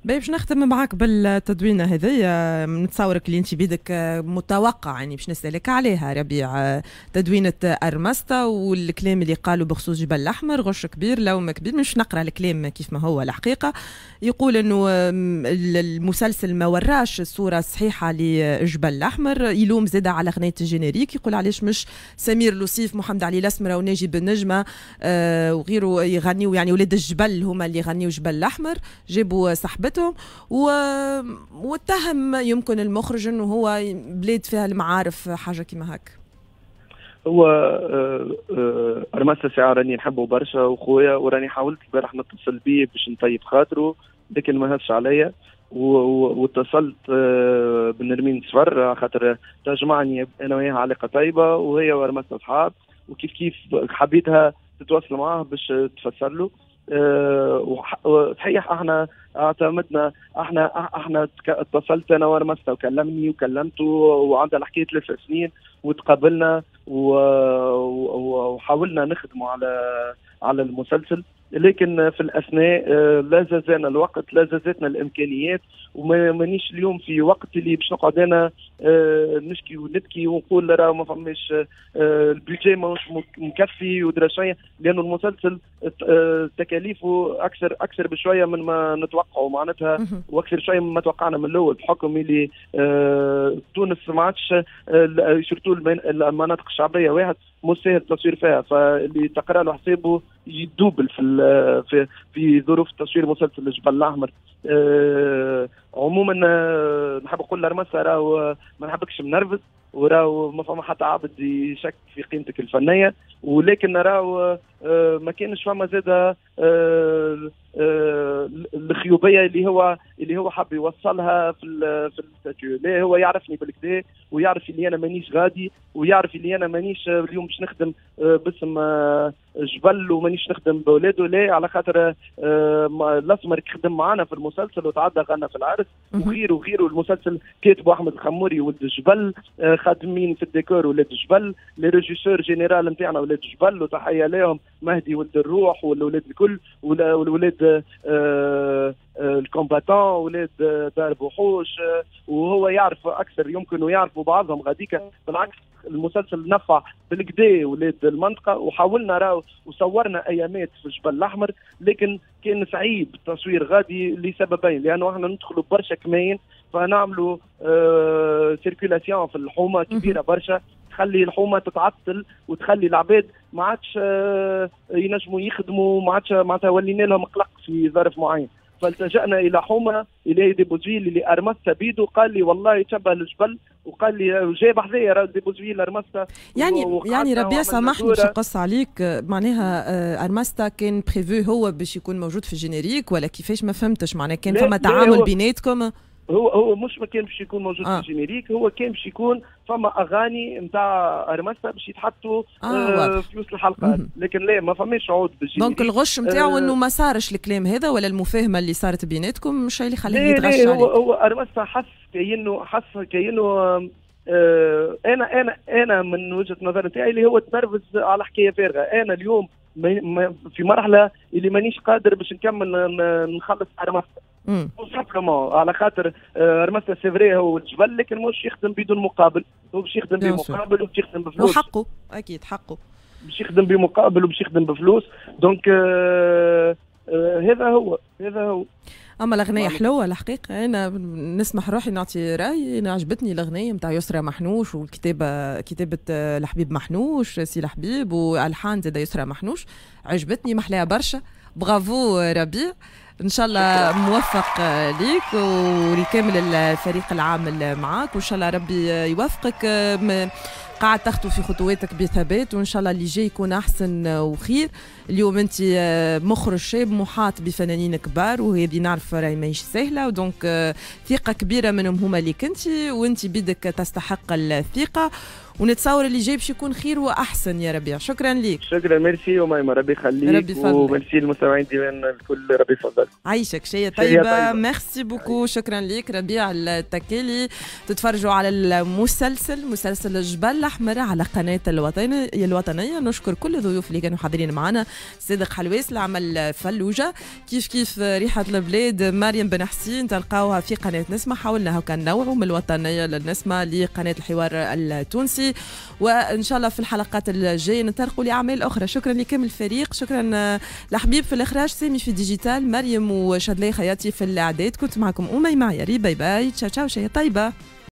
باهي، باش نختم معاك بالتدوينه هذيا، نتصورك اللي انت بيدك متوقع يعني باش نسالك عليها ربيع. تدوينه ارمستا والكلام اللي قالوا بخصوص جبل الاحمر، غش كبير، لوم كبير. مش نقرا الكلام كيف ما هو، الحقيقة يقول انه المسلسل ما وراش الصورة الصحيحة لجبل الاحمر. يلوم زاد على اغنية ال générique، يقول علاش مش سمير لوصيف، محمد علي الاسمر وناجي بن نجمه وغيره يغنيوا، يعني ولاد الجبل هما اللي يغنيوا جبل الاحمر، جابوا صاحبتهم. واتهم يمكن المخرج انه هو بلاد فيها المعارف، حاجة كيما هكا. هو ارماستا ساعة راني نحبه برشا وخويا، وراني حاولت البارح نتصل بيه باش نطيب خاطره لكن ما هزش عليا، واتصلت بنرمين صفر خاطر تجمعني انا وياها علاقة طيبة، وهي وارماستا اصحاب، وكيف كيف حبيتها تتواصل معاه باش تفسر له. صحيح احنا اعتمدنا، احنا اتصلت انا وارمستا وكلمني وكلمته، وعندنا الحكاية 3 سنين وتقابلنا وحاولنا نخدموا على المسلسل، لكن في الاثناء لا زازنا الوقت لا زازتنا الامكانيات، وما مانيش اليوم في وقت اللي باش نقعد انا نشكي ونبكي ونقول راه ما فماش ال budget ماهوش مكفي ودرا شويه، لانه المسلسل تكاليفه اكثر اكثر بشوية من ما نتوقعه معناتها، واكثر شوية مما توقعنا من الاول، بحكم اللي تونس ما عادش surtout المناطق الشعبية واحد مش سهل التصوير فيها، فاللي تقرا له حسابه يدوبل في ظروف تصوير مسلسل الجبل الاحمر. عموما نحب نقول لارماستا راهو ما نحبكش منرفز، وراهو ما فما حتى عبد يشك في قيمتك الفنيه، ولكن راهو ما كانش فما زاد الخيوبيه اللي هو حب يوصلها في ال statut. لا، هو يعرفني بالكدا ويعرف اللي انا مانيش غادي، ويعرف اللي انا مانيش اليوم باش نخدم باسم جبل ومانيش نخدم بولاده. لا، على خاطر الاسمر خدم معنا في المسلسل وتعدى غنى في العرس وغيره وغيره. المسلسل كاتبه احمد الخموري ولد الجبل، خادمين في الديكور ولاد الجبل، les régisseurs général نتاعنا ولاد الجبل وتحية لهم، مهدي ولد الروح والولاد الكل والولاد ال combattants، ولاد دار بوحوش، وهو يعرف اكثر يمكن ويعرفوا بعضهم غاديك. بالعكس، المسلسل نفع بالكدا ولاد المنطقه، وحاولنا راهو وصورنا ايامات في الجبل الاحمر، لكن كان صعيب التصوير غادي لسببين: لانه احنا ندخلوا برشا كماين فنعملوا circulation في الحومه كبيرة برشا تخلي الحومه تتعطل وتخلي العباد ما عادش ينجموا يخدموا، ما عادش معناتها ولينا لهم قلق في ظرف معين. فالتجأنا الى حومه الى ديبوزفيل اللي ارمستا بيدو قال لي والله يتشبه الجبل، وقال لي جايب حذايا ديبوزفيل ارمستا. يعني ربيع، سامحني باش نقص عليك، معناها ارمستا كان prévu هو باش يكون موجود في ال générique ولا كيفاش؟ ما فهمتش، معناها كان فما تعامل بيناتكم؟ هو مش ما كان باش يكون موجود في ال générique، هو كان باش يكون فما اغاني نتاع ارمستا باش يتحطوا في وسط الحلقات، لكن لا، ما فماش عود بال générique. donc الغش نتاعو انه ما صارش الكلام هذا ولا المفاهمه اللي صارت بيناتكم مش اللي خليه يتغش عليك. هو ارمستا حس كأنه انا من وجهه نظر نتاعي اللي هو تنرفز على حكاية فارغه. انا اليوم في مرحلة اللي مانيش قادر باش نكمل نخلص ارمستا simplement على خاطر ارمستا c'est vrai هو الجبل، لكن مش يخدم بدون مقابل، هو باش يخدم بمقابل وباش يخدم بفلوس. وحقه، اكيد حقه. باش يخدم بمقابل وباش يخدم بفلوس، donc هذا هو، هذا هو. اما الاغنية حلوة الحقيقه، انا نسمح روحي نعطي رايي، انا عجبتني الاغنية نتاع يسرى محنوش، والكتابة كتابه الحبيب محنوش، سي الحبيب، والحان زاد يسرى محنوش. عجبتني، محلاها برشا. برافو ربيع، ان شاء الله موفق ليك ولكامل الفريق العامل معاك، وان شاء الله ربي يوفقك. قاعد تخطو في خطواتك بثبات، وان شاء الله اللي جاي يكون احسن وخير. اليوم انت مخرج شاب محاط بفنانين كبار، وهذه نعرف راهي ماهيش سهله، و donc ثقة كبيرة منهم هما اللي كنتي، وانت بيدك تستحق الثقه، ونتصور اللي جاي باش يكون خير واحسن يا ربيع. شكرا لك. شكرا، ميرسي وميمة، ربي يخليك. ربي يفضلك. وميرسي المستمعين ديما الكل، ربي يفضلك. عايشك، شيء طيبة، merci beaucoup. شكرا لك ربيع التكالي. تتفرجوا على المسلسل، مسلسل الجبل. الاحمر على قناة الوطنيه. نشكر كل الضيوف اللي كانوا حاضرين معنا، صادق حلواس العمل فلوجه، كيف كيف ريحه البلاد مريم بن حسين تلقاوها في قناة نسمه. حاولنا هكا نوعوا من الوطنية للنسمه لقناه الحوار التونسي، وان شاء الله في الحلقات الجاية نطرقوا لاعمال اخرى. شكرا لكامل الفريق، شكرا لحبيب في الاخراج، سامي في digital، مريم وشادلي خياتي في الاعداد. كنت معكم اميمة عياري، bye bye، ciao ciao، شيء طيبه.